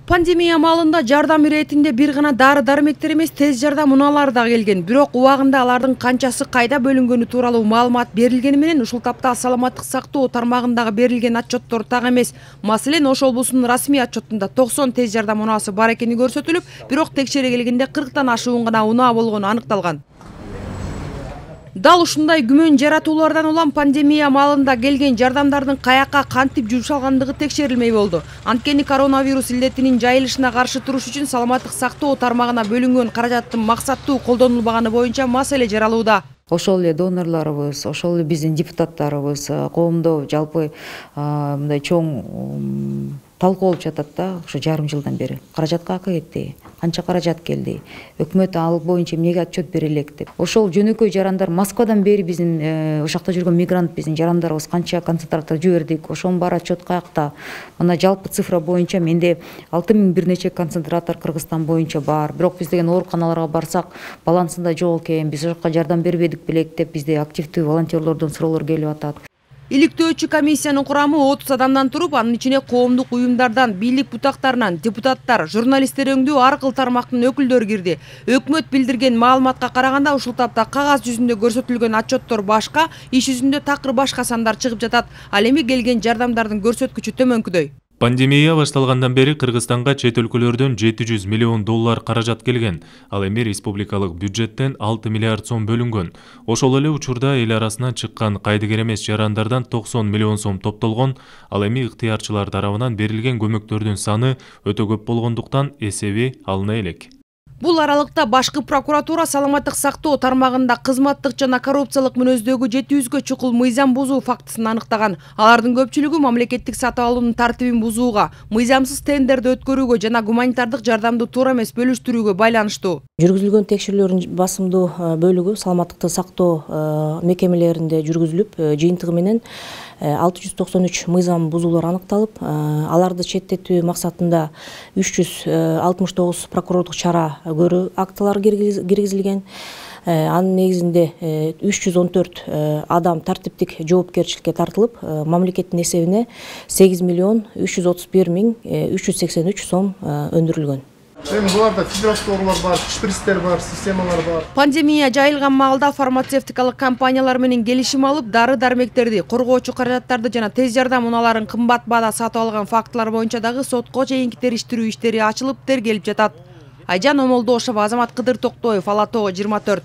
Пандемия маалында жардам иретинде бир гана дары-дармектер эмес, тез жардам унаалары да келген. Бирок убагында алардын канчасы кайда бөлүнгөнү тууралуу маалымат берилгени менен ушул тапта саламаттык сактоо тармагындагы берилген отчеттор так эмес. Маселен, Ош облусунун расмий отчетунда 90 тез жардам унаасы бар экени көрсөтүлүп, бирок текшере келгенде 40тан ашуун гана унаа болгону аныкталган. Дал ушундай күмөн жаратуулардан улам пандемия маалында келген жардамдардын каяка кантип жумшалгандыгы текшерилмей болду. Анткени коронавирус илдетинин жайылышына каршы туруш үчүн саламаттык сактоо тармагына бөлүнгөн каражаттын максаттуу колдонулбаганы боюнча маселе жаралууда. Ошол эле донорлорубуз, ошол эле биздин депутаттарыбыз коомдо жалпы мындай чоң талкуу болуп жатат да, ошо жарым жылдан бери. Каражат каяка кетти? Канча каражат келди? Өкмөт ал боюнча эмнеге отчет бере элек деп. Ошол жөнөкөй жарандар Москвадан бери биздин ошакта жүргөн мигрант биздин жарандарыбыз канча концентратор жибердик, ошонун баары отчет каякта. Мына жалпы цифра боюнча менде 6000 бир нече концентратор Кыргызстан боюнча бар. Бирок биз деген ооруканаларга барсак, балансында жок экен, биз ошока жардам бербедик белек деп бизде активдүү волонтерлордон суроолор келип атат. Иликтөөчү комиссиянын курамы 30 адамдан туруп, анын ичине коомдук уюмдардан, бийлик бутактарынан, депутаттар, журналисттер өңдүү ар кыл тармактын өкүлдөрү кирди. Өкмөт билдирген маалыматка караганда ушул тапта кагаз жүзүндө көрсөтүлгөн отчеттор башка, иш жүзүндө такыр башка сандар чыгып жатат. Ал эми келген жардамдардын көрсөткүчү төмөнкүдөй. Пандемия башталгандан бери Кыргызстанга чет өлкөлөрдөн 700 миллион доллар каражат келген. Ал эми республикалык бюджеттен 6 миллиард сом бөлүнгөн. Ошол эле учурда эл арасынан чыккан кайдыгер эмес жарандардан 90 миллион сом топтолгон. Ал эми ыктыярчылар тарабынан берилген көмөктөрдүн саны өтө көп болгондуктан эсеби алына элек. Бул аралыкта башкы прокуратура саламаттык сактоо тармагында кызматтык жана коррупциялык мүнөздөгү 700гө чукул мыйзам бузуу фактысын аныктаган. Алардын көпчүлүгү мамлекеттик сатып алуунун тартибин бузууга, мыйзамсыз тендерди өткөрүүгө жана гуманитардык жардамды туура эмес бөлүштүрүүгө байланыштуу. Жүргүзүлгөн текшерүүлөрдүн басымдуу бөлүгү саламаттыкты сактоо мекемелеринде жүргүзүлүп, жыйынтыгы менен 693 мыйзам бузуулар аныкталып, аларды четтетүү максатында 369 прокурорлук чара көрүү актылары киргизилген. Анын негизинде 314 адам тартиптик жоопкерчиликке тартылып, мамлекеттин эсебине 8 миллион 331 миң 383 сом өндүрүлгөн. Буларда фидералдык бар, күчтүрүстөр бар, системалар бар. Пандемия жайылган маалда фармацевтикалык компаниялар менен келишим алып, дары-дармектерди, коргоочу каражаттарды жана тез жардам унааларын кымбат баада сатып алган фактылар боюнча дагы сотко чейинки териштирүү иштери ачылып, тергелип жатат. Айжан Омолдошова, Азамат Кыдыр Токтоев, Ала Тоо 24.